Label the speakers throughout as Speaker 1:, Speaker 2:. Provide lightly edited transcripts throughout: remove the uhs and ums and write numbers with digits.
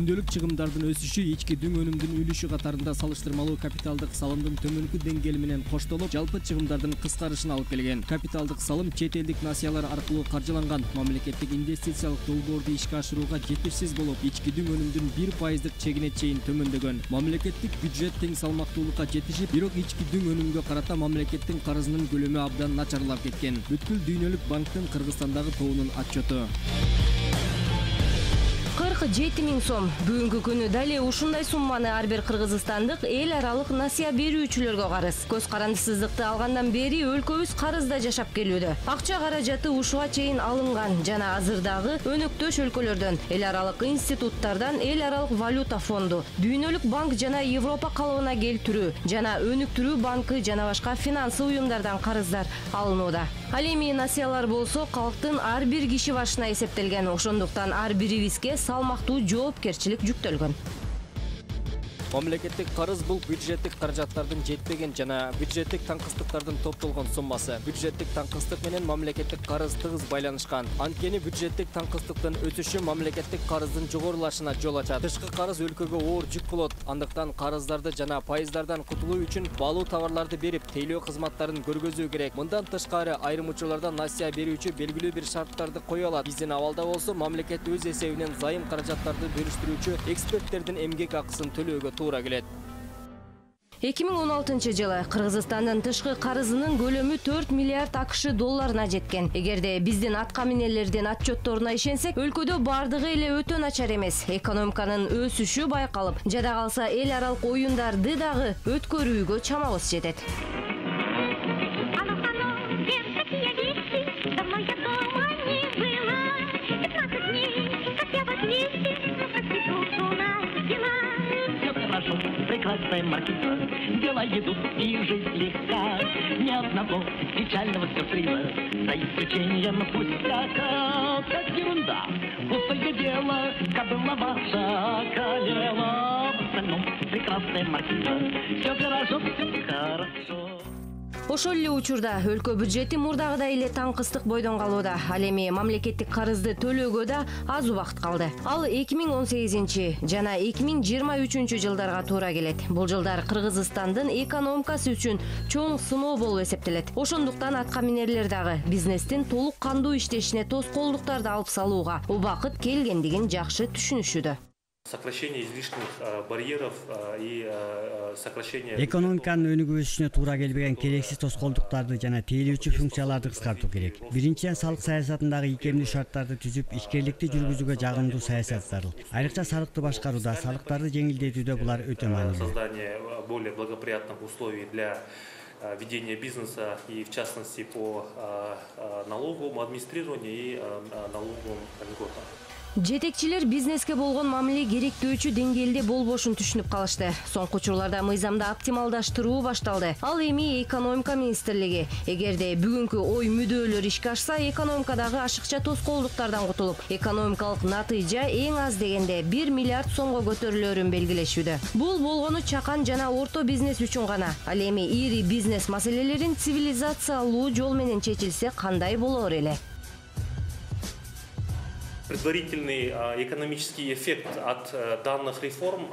Speaker 1: Күндөлүк чыгымдардын өсүшү ички дүң өнүмдүн үлүшү катарында салыштырмалуу капиталдык салымдын төмөнкү деңгээли менен коштолуп, жалпы чыгымдардын кыскарышына алып келген. Капиталдык салым чет элдик насыялар аркылуу каржыланган. Мамлекеттик инвестициялык долбоорду ишке ашырууга жетишсиз болуп, ички дүң өнүмдүн 1% чегине чейин төмөндөгөн. Мамлекеттик бюджет тең салмактуулукка жетишип, бирок ички дүң өнүмгө карата мамлекеттин карызынын көлөмү абдан начарлап кеткен. Бүткүл дүйнөлүк банктын Кыргызстандагы тобунун отчету.
Speaker 2: 47 000 сом. Бүгүнкү күнү дале ушундай сумманы ар бир кыргызстандык эл аралык насыя берүүчүлөргө карыз. Көз карандысыздыкты алгандан бери өлкөбүз карызда жашап келүүдө. Акча каражаты ушуга чейин алынган жана азырдагы өнөктөш өлкөлөрдөн, эл аралык институттардан, эл аралык валюта фонду, Дүйнөлүк банк жана Европа калыбына келтирүү жана өнүктүрүү банкы жана башка финансы уюмдардан карыздар алынууда. Ал эми насыялар болсо калктын ар бир киши башына эсептелген. Ошондуктан ар бирибизге салмактуу жоопкерчилик жүктөлгөн.
Speaker 1: Мамлекеттик карыз бул бюджеттик каражаттардын жетпеген жана бюджеттик таңкыстыктардын топтолгон суммасы. Бюджеттик таңкыстык менен мамлекеттик карыз тыгыз байланышкан. Анткени бюджеттик таңкыстыктын өсүшү мамлекеттик карыздын жогорулашына жол ачат. Тышкы карыз өлкөгө оор жүк болот. Андыктан карыздарды жана пайыздардан кутулуу үчүн баалуу товарларды берип, тейлөө кызматтарын көргөзүү керек. Мындан тышкары айрым учурларда насыя берүүчү белгилүү бир шарттарды кое алат. Биздин абалда болсо мамлекет өз эсебинен зайым каражаттарды бөлүштүрүүчү эксперттердин эмгек акысын төлөөгө туура келет.
Speaker 2: 2016 жылы Кыргызстандын тышкы карызынын көлөмү 4 миллиард АКШ долларына жеткен. Эгерде биздин атка минерлердин отчетторуна ишенсек, өлкөдө бардыгы эле өтө начар эмес. Экономиканын өсүшү байкалып, жада калса эл аралык оюндарды дагы өткөрүүгө чамабыз жетет.
Speaker 3: Прекрасная маркиза, дела идут и жизнь легка. Ни одного печального сюрприза, за исключением пустяка. Как ерунда, пустое дело, кобыла ваша королева. В остальном прекрасная маркиза, все хорошо, все хорошо.
Speaker 2: Ошол эле учурда өлкө бюджети мурдагыдай эле таңкыстык бойдон калууда. Ал эми мамлекеттик карызды төлөөгө да аз убакыт калды. Ал 2018 жана 2023 жылдарга туура келет. Бул жылдар Кыргызстандын экономикасы үчүн чоң сыноо болуп эсептелет. Ошондуктан атка минерлер дагы бизнестин толук кандуу иштешине тоскоолдуктарды алып салууга убакыт келгендигин жакшы түшүнүшүүдө.
Speaker 4: Сокращение излишних барьеров и сокращение...
Speaker 5: Экономиканын өнүгүп өсүшүнө туура келбеген керексиз тоскоолдуктарды жана тейлөөчү функцияларды кыскартуу керек. Биринчиден, салык саясатындагы ийкемдүү шарттарды түзүп, ишкерликти жүргүзүүгө жагымдуу саясат зарыл. Айрыкча салыкты башкарууда, салыктарды жеңилдетүүдө булар өтө маанилүү.
Speaker 4: Создание более благоприятных условий для ведения бизнеса и, в частности, по налоговому администрированию и налоговым льготам.
Speaker 2: Жетекчилер бизнеске болгон мамиле керектөөчү деңгээлде болбошун түшүнүп калышты. Соңку учурларда мыйзамды оптималдаштыруу башталды. Ал эми экономика министрлиги эгерде бүгүнкү ой мүдөөлөр ишке ашса, экономикадагы ашыкча тоскоолдуктардан кутулуп, экономикалык натыйжа эң аз дегенде 1 миллиард сомго көтөрүлөрүн белгилешүүдө. Бул болгону чакан жана орто бизнес үчүн гана. Ал эми ири бизнес маселелерин цивилизациялуу жол менен чечилсе кандай болор эле?
Speaker 4: Предварительный экономический эффект от данных реформ,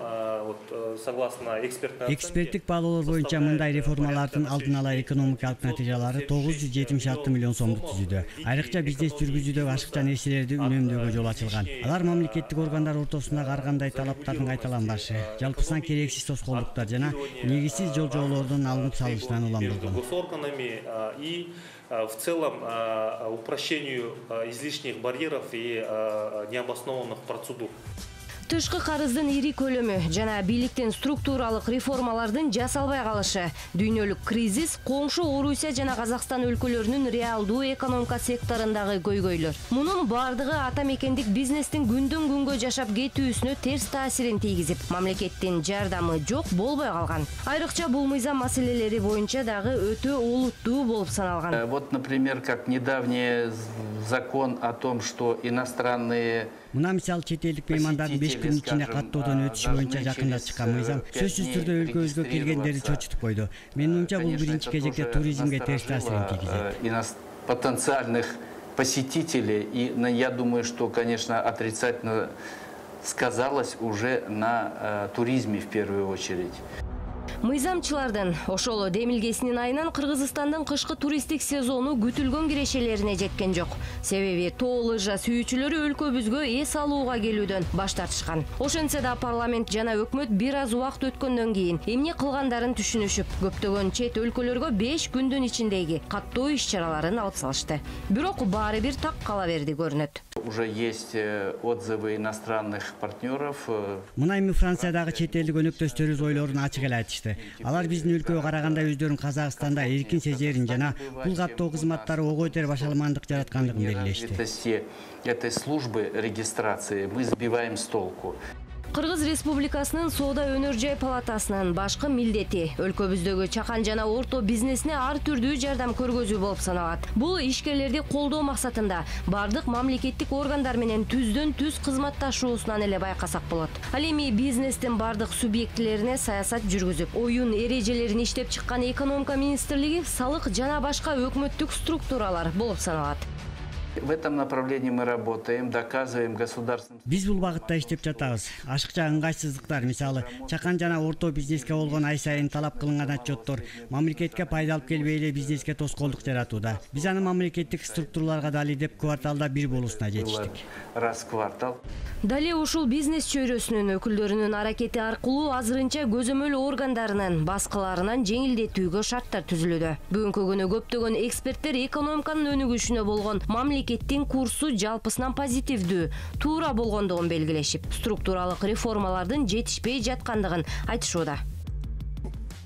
Speaker 4: согласно
Speaker 5: эксперттик баалоолор боюнча мындай реформалардын алдын ала экономикалык натыйжалары 976 миллион сомду түзүүдө. Айрыкча бизнес жүргүзүүдө ашыкча нерселерди үнөмдөөгө жол ачылган. Алар мамлекеттик органдар ортосундагы ар кандай талаптардын кайталанбашы, жалпысынан керексиз тоскоолдуктар жана негизсиз жолжоолордун алынып салынышынан улам болгон.
Speaker 4: Госорганами и в целом упрощению излишних барьеров и необоснованных процедур.
Speaker 2: Тышкы карыздын ири көлөмү жана бийликтин структуралык реформалардын жасалбай калышы, дүйнөлүк кризис, коңшу Орусия жана Казакстан өлкөлөрүнүн реалдуу экономика секторундагы көйгөйлөр. Мунун бардыгы ата мекендик бизнестин күндөн күнгө жашап кетүүсүнө терс таасирин тийгизип, мамлекеттин жардамы жок болбой калган. Айрыкча бул мыйзам маселелери боюнча дагы өтө олуттуу болуп саналган.
Speaker 6: Вот, например, как недавний закон о том, что иностранные...
Speaker 5: Мына мисалы чет элдик меймандардын 5 күн ичинде каттоодон өтүшү боюнча жакында чыккан мыйзам сөзсүз түрдө өлкөбүзгө келгендерди чочутуп койду. Менин оюмча бул биринчи кезекте туризмге терс таасирин тийгизет.
Speaker 6: Потенциальных посетителей, и я думаю, что, конечно, отрицательно сказалось уже на туризме в первую очередь.
Speaker 2: Мыйзамчылардын ошол демилгесинин айынан Кыргызстандын кышкы туристтик сезону күтүлгөн кирешелерине жеткен жок. Себеби тоо лыжа сүйүүчүлөрү өлкөбүзгө эс алууга келүүдөн баш тартышкан. Ошентсе да парламент жана өкмөт бир аз убакыт өткөндөн кийин эмне кылгандарын түшүнүшүп, көптөгөн чет өлкөлөргө 5 күндүн ичиндеги каттоо иш-чараларын алып салышты. Бирок баары бир так кала берди көрүнөт.
Speaker 6: Уже есть отзывы иностранных партнеров.
Speaker 5: Мына эми Франциядагы чет элдик өнөктөштөрүбүз ойлорун ачык эле айтышты. Алар биздин өлкөгө караганда өздөрүн Казакстанда эркин сезерин жана бул каттоо кызматтары ого бетер башаламандык жараткандыгын белгилешти.
Speaker 6: Этой службы регистрации мы сбиваем с толку.
Speaker 2: Кыргыз Республикасынын Соода өнөр жай палатасынын башкы милдети өлкөбүздөгү чакан жана орто бизнесине ар түрдүү жардам көргөзүү болуп саналат. Бул ишкерлерди колдоо максатында бардык мамлекеттик органдар менен түздөн түз кызматташуусунан эле байкасак болот. Ал эми бизнестин бардык субъектилерине саясат жүргүзүп, оюн эрежелерин иштеп чыккан экономика министрлиги, салык жана башка өкмөттүк структуралар болуп саналат.
Speaker 6: В этом направлении мы работаем, доказываем государственным.
Speaker 5: Биз бул багытта иштеп жатабыз. Ашыкча ыңгайсыздыктар, мисалы, чакан жана орто бизнеске болгон ай сайын талап кылынган отчеттор мамлекетке пайда алып келбей эле бизнеске тоскоолдук жаратууда. Биз аны мамлекеттик структураларга дали деп кварталда бир болуусуна жетиштик.
Speaker 6: Раз в квартал.
Speaker 2: Дале ушул бизнес чөйрөсүнүн өкүлдөрүнүн аракети аркылуу азырынча көзөмөл органдарынын баскыларынан жеңилдетүүгө шарттар түзүлүүдө. Бүгүнкү күнү көптөгөн эксперттер экономиканын өнүгүшүнө болгон мамлекеттин курсу жалпысынан позитивдүү, туура болгондугун белгилешип, структуралык реформалардын жетишпей жаткандыгын айтышууда.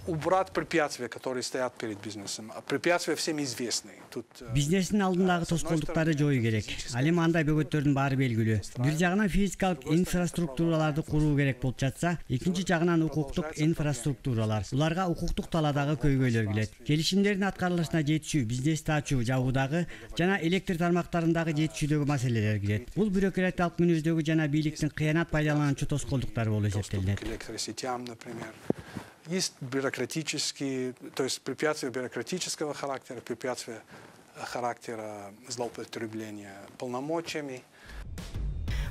Speaker 7: Убрать препятствия, которые стоят перед бизнесом. Препятствия всем известны.
Speaker 5: Бизнестин алдындагы тоскоолдуктарды жоюу керек. Ал эми андай бөгөттөрдүн баары белгилүү. Бир жагынан физикалык инфраструктураларды куруу керек болуп жатса, экинчи жагынан укуктук инфраструктуралар. Буларга укуктук талаадагы көйгөйлөр келет. Келишимдердин аткарылышына жетишүү, бизнести ачуу, жабуудагы жана электр тармактарындагы жетишүүдөгү маселелер кирет. Бул бюрократиялык мүнөздөгү жана бийликтин кыянат пайдалануучу тоскоолдуктары болуп эсептелинет.
Speaker 7: Есть бюрократические, то есть препятствия бюрократического характера, препятствия характера злоупотребления полномочиями.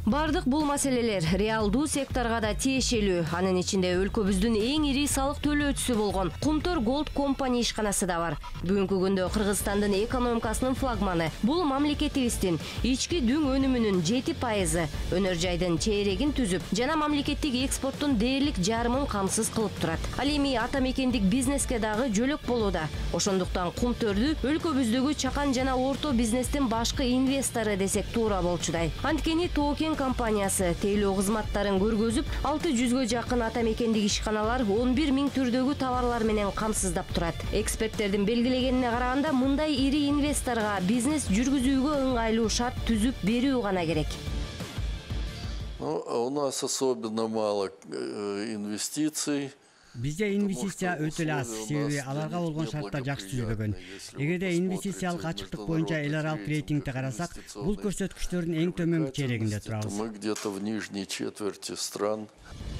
Speaker 2: Бардык бул маселелер реалдуу секторго да тиешелүү. Анын ичинде өлкөбүздүн эң ири салык төлөөчүсү болгон Кумтөр Голд компания ишканасы да бар. Бүгүнкү күндө Кыргызстандын экономикасынын флагманы. Бул мамлекетибиздин ички дүң өнүмүнүн 7% өнөр жайдын чейрегин түзүп, жана мамлекеттик экспорттун дээрлик жарымын камсыз кылып турат. Ал эми ата мекендик бизнеске дагы жөлөк болууда. Ошондуктан Кумтөрдү өлкөбүздөгү чакан жана орто бизнестин башкы инвестору десек туура болчудай. Анткени Токен компаниясы тейлөө кызматтарын көргөзүп, 600гө жакын ата мекендик ишканалар 11 000 түрдөгү товарлар менен камсыздап турат. Эксперттердин белгилегенине караганда, мындай ири инвесторго бизнес жүргүзүүгө ыңгайлуу шарт түзүп берүү гана керек.
Speaker 8: У нас особенно мало инвестиций.
Speaker 5: Бизде инвестиция өтө эле аз, себеби аларга болгон шарттар жакшы түзүлбөгөн. Эгерде инвестициялык ачыктык боюнча эл аралык рейтингди карасак, бул көрсөткүчтөрдүн эң төмөнкү чейрегинде турабыз.
Speaker 8: Мы где-то в нижней четверти стран.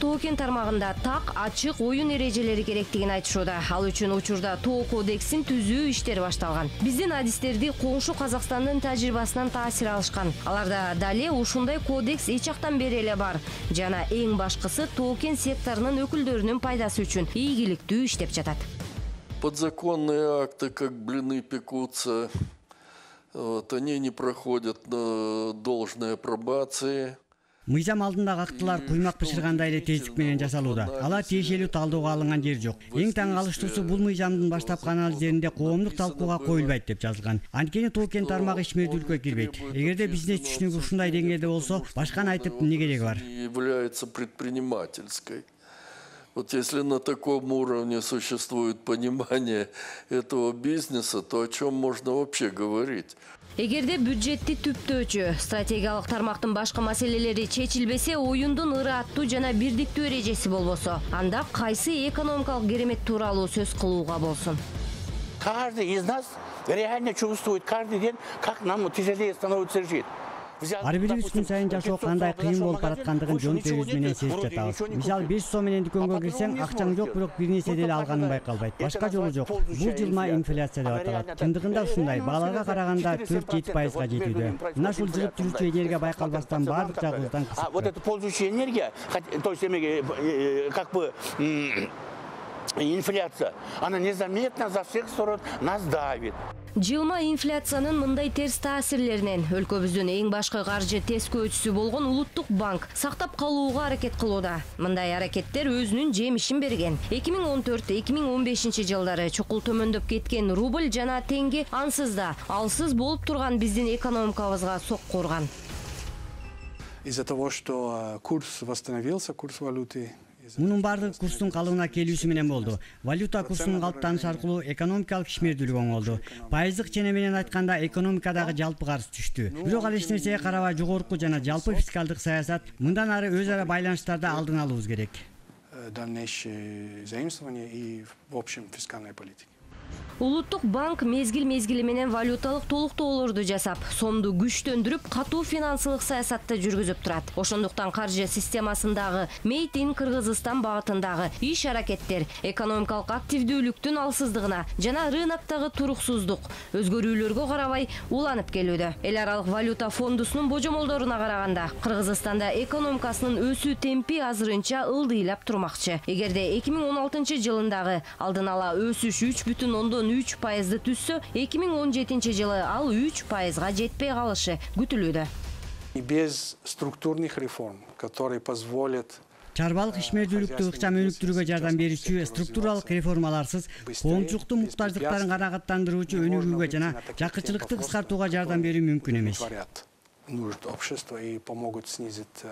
Speaker 2: Токен тармагында так, ачык оюн эрежелери керектигин айтышууда. Ал үчүн учурда Тоо кодексин түзүү иштери башталган. Биздин адистерди коңшу Казакстандын тажрыйбасынан таасир алышкан. Аларда дале ушундай кодекс эч жактан бери эле бар. Жана эң башкысы токен секторунун өкүлдөрүнүн пайдасы үчүн ийгиликтүү иштеп жатат.
Speaker 8: Подзаконные акты, как блины пекутся, они не проходят должной апробации.
Speaker 5: Мыйзам алдындагы актылар куймак бышыргандай эле тездик менен жасалууда. Алар тиешелүү талдоого алынган жери жок. Эң таң калыштуусу, бул мыйзамдын баштапкы анализдеринде коомдук талкууга коюлбайт деп жазылган. Анткени токен тармагы ишмердүүлүккө кирбейт. Эгерде бизнес түшүнүгү ушундай деңгээлде болсо, башканы айтып эмне кереги бар?
Speaker 8: Является предпринимательской. Вот если на таком уровне существует понимание этого бизнеса, то о чем можно вообще говорить?
Speaker 2: Эгерде бюджетти түптөөчү, стратегиялык тармактын башкы маселелери чечилбесе, оюндун ырааттуу жана бирдиктүү эрежеси болбосо, анда кайсы экономикалык керемет тууралуу сөз кылууга болсун?
Speaker 9: Каждый из нас реально чувствует каждый день, как нам тяжелее становится жить.
Speaker 5: Ар бирибиз күн сайын жашоо кандай кыйын болуп бараткандыгын жон терибиз менен сезип жатабыз. Мисалы 500 сом менен дүкөнгө кирсең, акчаң жок, бирок бир нерсе деле алганың байкалбайт. Башка жолу жок. Бул жылма инфляция деп аталат. Чындыгында ушундай. Бааларга караганда 4-7%га жетүүдө. Мына ушул жыгып жүрүүчү энергия байкалбастан баардык жагыбыздан кысып.
Speaker 9: Вот это ползущая энергия, то есть как бы инфляция, она незаметно за всех сторон нас давит.
Speaker 2: Жылма инфляциянын мындай терс таасирлеринен өлкөбүздүн эң башкы каржы тескөөчүсү болгон Улуттук банк сактап калууга аракет кылууда. Мындай аракеттер өзүнүн жемишин берген. 2014-2015 жылдары чукул төмөндөп кеткен рубль жана теңге ансыз да алсыз болуп турган биздин экономикабызга сокку урган.
Speaker 7: Из-за того, что курс восстановился, курс валюты.
Speaker 5: Мунун бардыгы курстун калыбына келүүсү менен болду. Валюта курсунун калыптанышы аркылуу экономикалык ишмердүүлүк оңолду. Пайыздык чене менен айтканда экономикадагы жалпы карыз түштү. Бирок ал эч нерсеге карабай жогорку жана жалпы фискалдык саясат мындан ары өз ара байланыштарды алдын алуубуз керек.
Speaker 7: Дальнейшее заимствование и в общем фискальной политике.
Speaker 2: Улуттук банк мезгил-мезгили менен валюталык толуктоолорду жасап, сомду күчтөндүрүп, катуу финансылык саясатты жүргүзүп турат. Ошондуктан каржы системасындагы Made in Кыргызстан багытындагы иш-аракеттер экономикалык активдүүлүктүн алсыздыгына жана рыноктогу туруксуздук өзгөрүүлөргө карабай уланып келүүдө. Эл аралык валюта фондусунун божомолдоруна караганда, Кыргызстанда экономикасынын өсүү темпи азырынча ылдыйлап турмакчы. Эгерде 2016 жылындагы алдын ала өсүш 3,3%-ды түссө, 2017 жылы ал 3%-га жетпей калышы күтүлүүдө.
Speaker 7: Без структурных реформ, которые позволят
Speaker 5: чарбалык ишмердүүлүктү ыкчам өнүктүрүүгө жардам берүүчү структуралык реформаларсыз коомчулуктун муктаждыктарын канааттандыруучу өнүгүүгө жана жакычылыкты кыскартууга жардам берүү мүмкүн эмес.
Speaker 7: Нужд общества и помогут снизить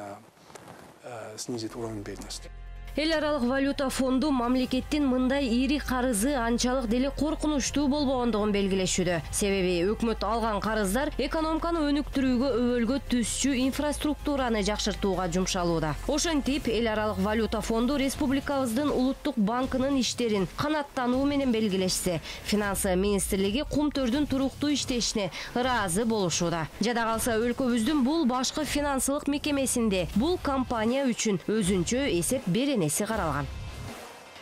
Speaker 7: уровень бедности.
Speaker 2: Эл аралык валюта фонду мамлекеттин мындай ири карызы анчалык деле коркунучтуу болбогондугун белгилешүүдө. Себеби өкмөт алган карыздар экономиканы өнүктүрүүгө өбөлгө түзчү инфраструктураны жакшыртууга жумшалууда. Ошентип, эл аралык валюта фонду республикабыздын Улуттук банкынын иштерин канаттануу менен белгилешсе, Финансы министрлиги кумтөрдүн туруктуу иштешине ыраазы болушууда. Жада калса өлкөбүздүн бул башкы финансылык мекемесинде бул компания үчүн өзүнчө эсеп беренеси каралган.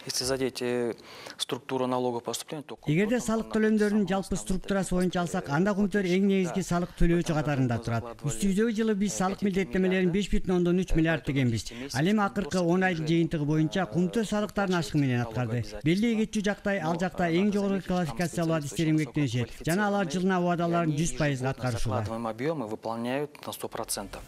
Speaker 10: Если задеть структуру налогов поступления, то
Speaker 5: эгерде салык төлөмдөрүнүн жалпы структурасы боюнча алсак, анда кумтөр эң негизги салык төлөөчү катарында турат. Үстүбүздөгү жылы биз салык милдеттемелерин 5,3 миллиард дегенбиз. Ал эми акыркы 10 айдын жыйынтыгы боюнча кумтөр салыктарын ашык менен аткарды. Белли эгечүү жактай ал жакта эң жогорку квалификациялуу адистер эмгектенишет жана алар жылына убадаларын 100%-га аткарышууда.
Speaker 10: Объемы выполняют на 100%.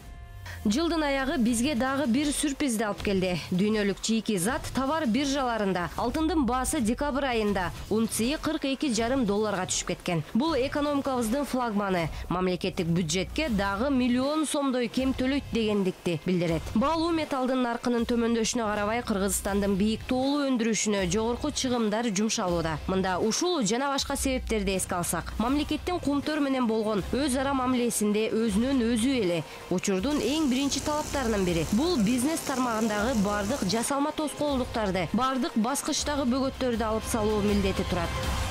Speaker 2: Жылдын аягы бизге дагы бир сюрпризди алып келди. Дүйнөлүк чийки зат товар биржаларында алтындын баасы декабрь айында унциясы $42,5 түшүп кеткен. Бул экономикабыздын флагманы. Мамлекеттик бюджетке дагы миллион сомдой кем төлөйт дегендикти билдирет. Баалуу металдын наркынын төмөндөшүнө карабай Кыргызстандын бийик тоолу өндүрүшүнө жогорку чыгымдар жумшалууда. Мында ушул жана башка себептерди эске алсак, мамлекеттин кумтөр менен болгон өз ара мамилесинде өзүнөн өзү эле учурдун эң биринчи талаптарынын бири. Бул бизнес тармагындагы бардык жасалма тоскоолдуктарды, бардык баскычтагы бөгөттөрдү алып салуу милдети турат.